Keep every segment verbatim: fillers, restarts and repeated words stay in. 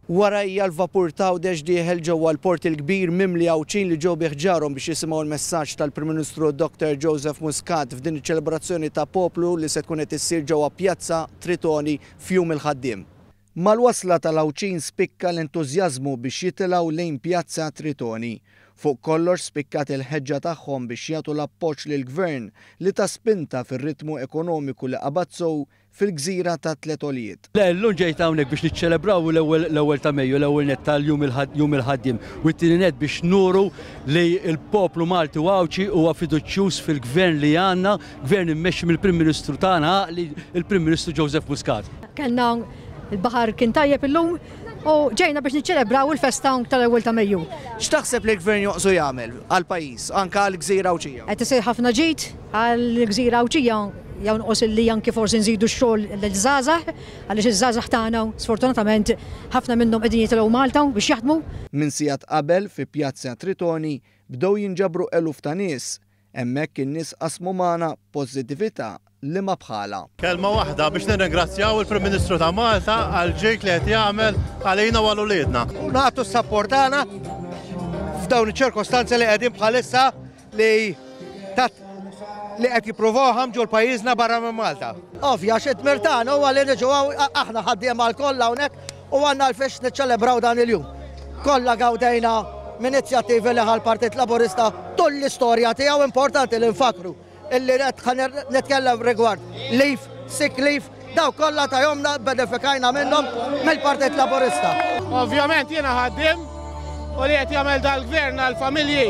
Warajja l-vapur t'Għawdex dieħel ġewwa l-Port il-Kbir mimli Għawdxin li ġew bi ħġarhom biex jisimgħu l-messaġġ tal-Prim Ministru Doctor Joseph Muscat f'din iċ-ċelebrazzjoni ta' poplu li se tkun qed issir ġewwa Pjazza Tritoni f'Jum il-Ħaddiem. Mal-wasla tal-Għawdxin spikka l-entużjażmu biex jitilgħu lejn Pjazza Tritoni. Fuq kollox spikkat il-ħeġġa tagħhom biex jagħtu l-appoġġ lill-Gvern li ta spinta fir-ritmu ekonomiku li qabad sew fil-gżira ta' tliet għoljiet. Le, llum ġejt hawnhekk biex niċċelebraw l-ewwel ta' Mejju, l-ewwel net tal-jum jum il-ħaddiem u t-tieni net biex nuru li l-poplu Malti u Għawdxi huwa fiduċjuż fil-gvern li għandna, gvern immexxi mill-Prim Ministru tagħna, il-Prim Ministru Joseph Muscat. Kellna il-baħar kien tajjeb illum u ġejna biex niċċelebraw il-festa tal-ewwel ta' Mejju. X'taħseb li l-gvern joqsu jagħmel għall-pajjiż, anke għall-gżira Għawdxija? Qed isir ħafna ġid għall-gżira Għawdxija, jonqos illi anke forsi nżidu x-xogħol liż-żgħażagħ, għaliex iż-żgħażagħ tagħna sfortunatament ħafna minnhom qegħdin jitilgħu Malta biex jaħdmu. Minn sigħat qabel fi Pjazza Tritoni bdew jinġabru eluf ta' nies. Hemmhekk in-nies qasmu magħna pożittività li ma bħala. Kelma waħda biex nirringrazzjaw il-Prim Ministru ta' Malta għal ġid li qed jagħmel għalina u għal uliedna. U nagħtu s-sapport tagħna f'dawn iċ-ċirkostanzi li qegħdin bħalissa li tat li qed jippruvaw ħamġu l-pajjiżna barra minn Malta. Ovvja, xi dmir tagħna huwa li niġu aħna ħaddiema l-kollha hawnhekk u għandna l-fiex niċċelebraw dan il-jum. Kollha gawdejna minn inizjattivi li ħa l-Partit Laburista tul l-istorja tiegħu, importanti li nfakru illi nitkellem rigward leave, sick leave, daw kollha ta' jomna benefikajna minnhom mill-Partit Laburista. Ovvjament jiena ħaddiem u li qed jagħmel dal-gvern għall-familji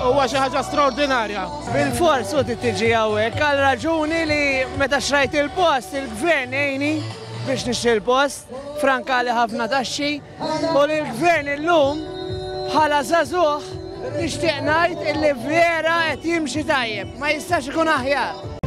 huwa xi ħaġa straordinarja. Bil-fors u tiġi hawnhekk għal raġuni li meta xrajt il-post il-gvern għejni biex nixtri l-post, frankali ħafna taxxi u li l-gvern illum bħala żagħżugħ nixtieq ngħid illi vera qed jimxi tajjeb, ma jistax ikun aħjar.